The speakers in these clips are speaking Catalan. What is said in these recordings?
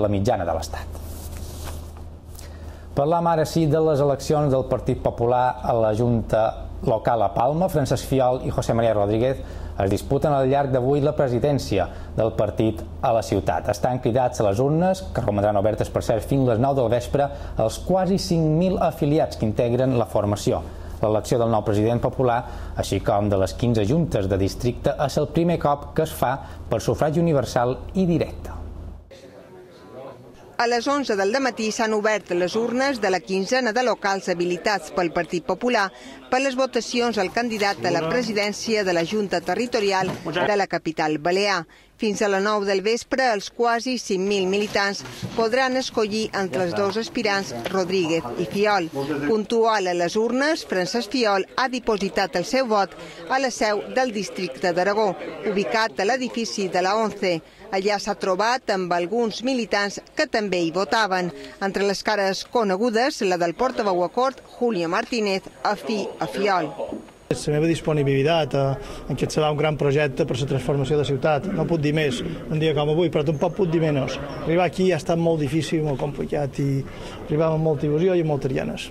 de la mitjana de l'Estat. Parlam ara sí de les eleccions del Partit Popular a la Junta Local a Palma. Francesc Fiol i José María Rodríguez es disputen al llarg d'avui la presidència del partit a la ciutat. Estan cridats a les urnes, que romandran obertes per cert fins les 9 del vespre, els quasi 5.000 afiliats que integren la formació. L'elecció del nou president popular, així com de les 15 juntes de districte, és el primer cop que es fa per sufragi universal i directe. A les 11 del dematí s'han obert les urnes de la quinzena de locals habilitats pel Partit Popular per les votacions al candidat a la presidència de la Junta Territorial de la capital balear. Fins a les 9 del vespre, els quasi 5.000 militants podran escollir entre els dos aspirants, Rodríguez i Fiol. Puntual a les urnes, Francesc Fiol ha dipositat el seu vot a la seu del districte d'Aragó, ubicat a l'edifici de la ONCE. Allà s'ha trobat amb alguns militants que també hi votaven. Entre les cares conegudes, la del portaveu a Cort, Julio Martínez, afí a Fiol. La meva disponibilitat en què serà un gran projecte per la transformació de la ciutat. No puc dir més un dia com avui, però tampoc puc dir menys. Arribar aquí ha estat molt difícil, molt complicat i arribàvem amb molta il·lusió i amb moltes ganes.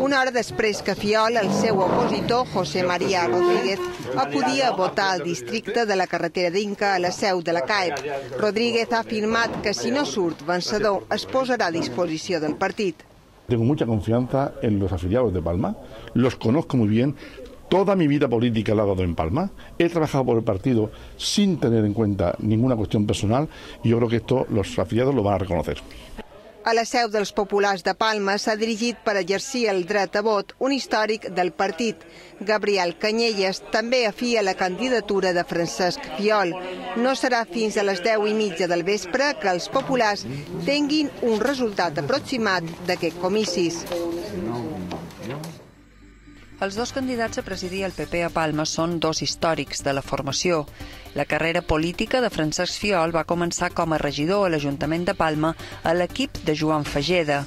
Una hora després que Fiol, el seu opositor, José María Rodríguez, acudia a votar al districte de la carretera d'Inca a la seu de la CAEP. Rodríguez ha afirmat que si no surt vencedor es posarà a disposició del partit. Tengo mucha confianza en los afiliados de Palma, los conozco muy bien. Toda mi vida política la he dado en Palma, he trabajado por el partido sin tener en cuenta ninguna cuestión personal y yo creo que esto los afiliados lo van a reconocer. A la seu dels populars de Palma s'ha dirigit per exercir el dret a vot un històric del partit, Gabriel Canyelles, també afí a la candidatura de Francesc Fiol. No serà fins a les 10:30 del vespre que els populars tinguin un resultat aproximat d'aquests comicis. Els dos candidats a presidir el PP a Palma són dos històrics de la formació. La carrera política de Francesc Fiol va començar com a regidor a l'Ajuntament de Palma a l'equip de Joan Fageda.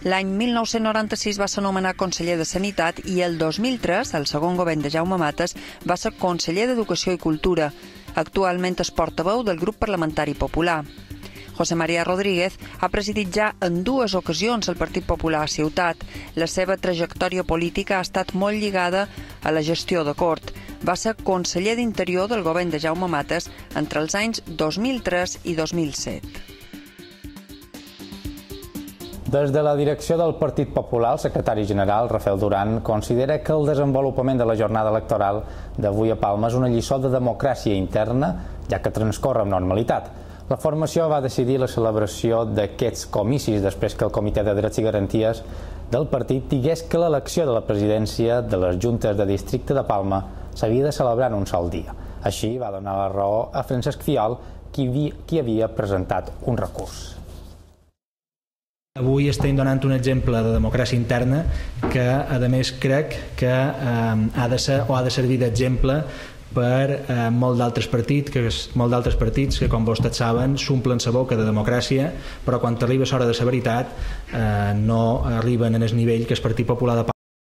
L'any 1996 va ser nomenat conseller de Sanitat i el 2003, el segon govern de Jaume Matas, va ser conseller d'Educació i Cultura. Actualment és portaveu del grup parlamentari popular. José María Rodríguez ha presidit ja en dues ocasions el Partit Popular a Ciutat. La seva trajectòria política ha estat molt lligada a la gestió de Cort. Va ser conseller d'Interior del govern de Jaume Matas entre els anys 2003 i 2007. Des de la direcció del Partit Popular, el secretari general, Rafael Duran, considera que el desenvolupament de la jornada electoral d'avui a Palma és una lliçó de democràcia interna, ja que transcorre amb normalitat. La formació va decidir la celebració d'aquests comicis després que el Comitè de Drets i Garanties del partit digués que l'elecció de la presidència de les juntes de districte de Palma s'havia de celebrar en un sol dia. Així va donar la raó a Francesc Fiol, qui havia presentat un recurs. Avui estem donant un exemple de democràcia interna que, a més, crec que ha de servir d'exemple per molts d'altres partits que, com vostès saben, s'omplen la boca de democràcia, però quan arriba l'hora de la veritat no arriben en el nivell que el Partit Popular de Palma